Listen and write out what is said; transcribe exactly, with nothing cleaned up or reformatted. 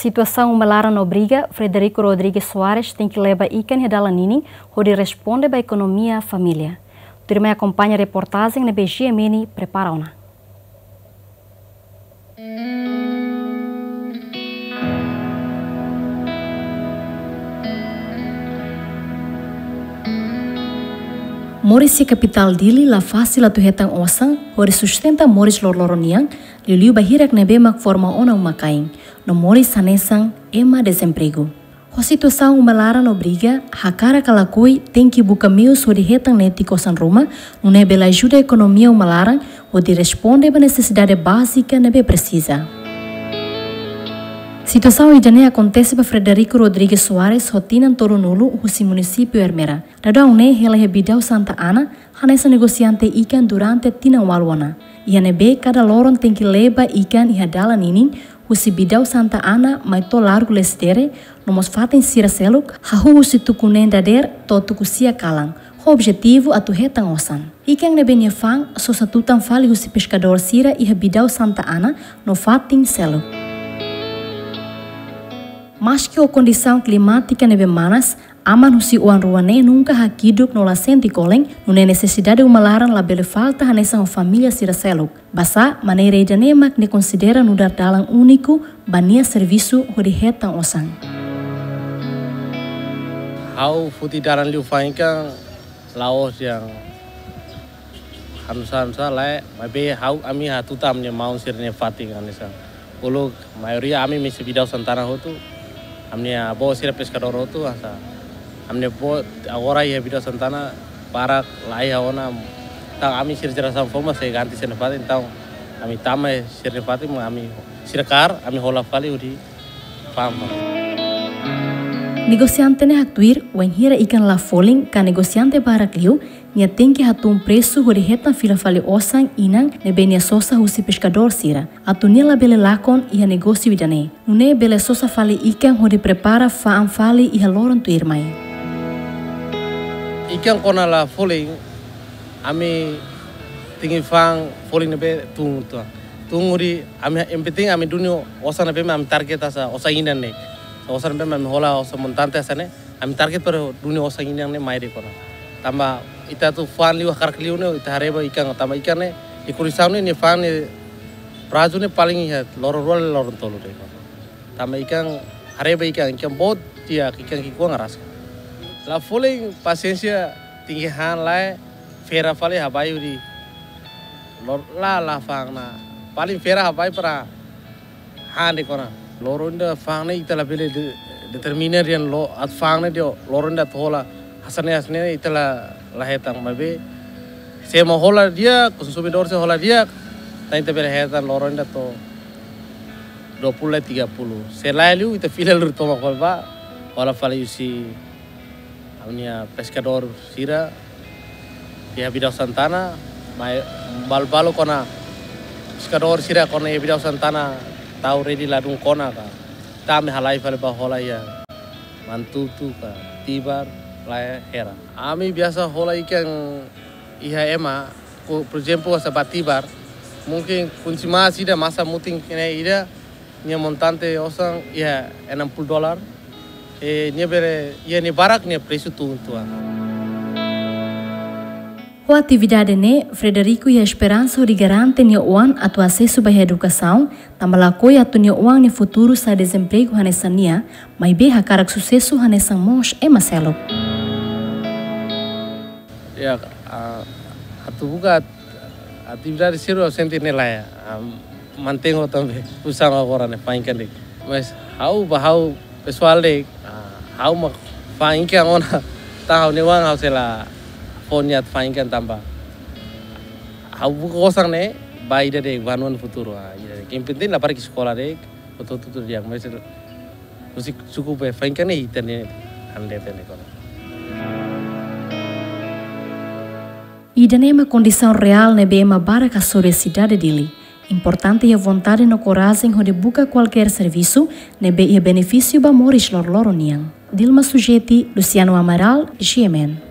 Situasaun uma laran no briga, Frederico Rodrigues Soares tenke leba ikan iha dalan ninin hodi responde ba ekonomia família. Tuirmai akompaña reportajen ne'ebé G M N prepara ona. Moris iha kapitál Dili la fasil atu hetan osan hodi sustenta moris loroloron nian, liuliu ba hirak ne'ebé mak forma ona uma-kain, no moris hanesan ema dezempregu. Ho situasaun uma laran no briga, hakarak ka lakohi tenke buka meius hodi hetan netik osan ruma, nune'e bele ajuda ekonomia uma laran hodi responde ba nesesidade bázika ne'ebé presiza. Situasaun ida-ne'e akontese ba Frederico Rodrigues Soares ho tinan tolunulu husi munisípiu Ermera. Daudaun ne'e hela iha Bidau Santa Ana, hanesan negosiante ikan durante tinan ualu ona. Iha ne'ebé kada loron tenke leba ikan iha dalan ninin, husi Bidau Santa Ana mai to'o Largu Lecidere, no mós fatin sira seluk, hahú husi tuku neen dadeer to'o tuku sia kalan, ho objetivu atu hetan osan. Ikan ne'ebé nia fa'an sosa tutan fali husi peskadór sira iha Bidau Santa Ana no fatin seluk. Maski ho kondisaun klimátika ne'ebé manas, aman husi oan rua ne'e nunka hakiduk no la sente kolen, nune'e nesesidade uma laran labele falta hanesan ho família sira seluk. Basá, maneira ida-ne'e mak nia konsidera nu'udar dalan úniku ba nia servisu hodi hetan osan. Ha'u foti dalan liu fa'an ikan la'ós yang hanusa-hanusa lae, maibé ha'u, ami hatutan ami-nia maun sira-nia fatin hanesan. Uluk maioria ami misi Bidau Santa Ana hotu, ami-nia avó sira peskadór hotu, hanesan. Ami-nia avó agora iha Bidau Santa Ana, barak la iha ona, entaun ami sira jerasaun foun mak sei ganti sira-nia fatin, entaun ami tama sira-nia fatin, ami sira kaer, ami hola fali hodi fa'an. Negosiante ne'e haktuir, wainhira ikan la folin, ka negosiante barak liu, nia tenke hatún presu hodi hetan fila fali osan inan ne'ebé nia sosa husi peskadór sira, atu nia labele lakon iha negósiu ida-ne'e. Nune'e bele sosa fali ikan hodi prepara fa'an fali iha loron tuirmai. Ikan kuandu la folin, ami tenke fa'an folin ne'ebé tun tuan. Tun hodi ami, yang penting ami duni osan ne'ebé ami target hanesan osan inan ne'e. Osan ne'ebé ami hola osan montante hanesan ne'e, ami target para duni osan inan ne'e mai de'it ona. Tanba ita atu fa'an liu hakarak liu ne'e, ita haree ba ikan, tanba ikan ne'e, ikan kondisaun ne'e, nia fa'an ne'e, prazu ne'e paling iha loron rua, loron tolu de'it ona. Tanba ikan, haree ba ikan, ikan boot, ikan ki'ikoan rasik. La folin pasiénsia, tenke han lae, fera fali habai hodi. Lor-, la, la fa'an ona. Paling fera habai para han de'it ona. Loron ida fa'an ne'e ita labele de-, determina dehan lo-, atu fa'an ne'e dehan loron ida atu hola. Hanesan ne'e, hanesan ne'e ita la, la hetan maibé. Se ema hola di'ak, konsumidór sira hola di'ak, entaun ita bele hetan loron ida to'o dua puluh lai tiga puluh. Se lae liu ita fila lur tomak fali ba, hola fali husi ami-nia peskadór sira iha Bidau Santa Ana, mai balu-balu kuandu peskadór sira kuandu iha Bidau Santa Ana tau redi ladún kuandu ka. Entaun ami halai fali ba hola iha Manatuto ka, Tibar, lae hela. Ami biasa hola ikan iha ema, ko, por ezemplu, hanesan ba Tibar, mungkin kunci mas ida masa mutin ne'e ida, nia montante osan iha enam puluh dolar. E, nia bele, iha nia barak nia presu tun tuan. Ho atividade ne'e, Frederico iha esperansa hodi garante nia oan atu asesu ba edukasaun, tanba lakohi atu nia oan nia futuru sai dezempregu hanesan nia, maibé hakarak susesu hanesan mós ema seluk. Ya, ah, atu buka at-, atividade sira sente ne'e lae, ah, mantein ho tanba, usaha agora ne'e, fa'an ikan de'it. Mas ha'u ba ha'u pesoál de'it, ah, ha'u mak fa'an ikan ona, entaun ha'u-nia oan ha'u sei la fó nia atu fa'an ikan tanba. Ha'u buka osan ne'e, ba ida de'it, ba nia futuru, ah, ida de'it. Yang penting la para ke sekolah de'it, betul-betul dia, mas husi suku be fa'an ikan ne'e ita-nia ande tene kono. Ida-ne'e mak kondisaun reál ne'ebé ema barak hasoru iha sidade Dili. Importante iha vontade no korajen hodi buka kualkér servisu ne'ebé iha benefísiu ba moris loroloron nian. Dilma Sujeti, Luciano Amaral, G M N.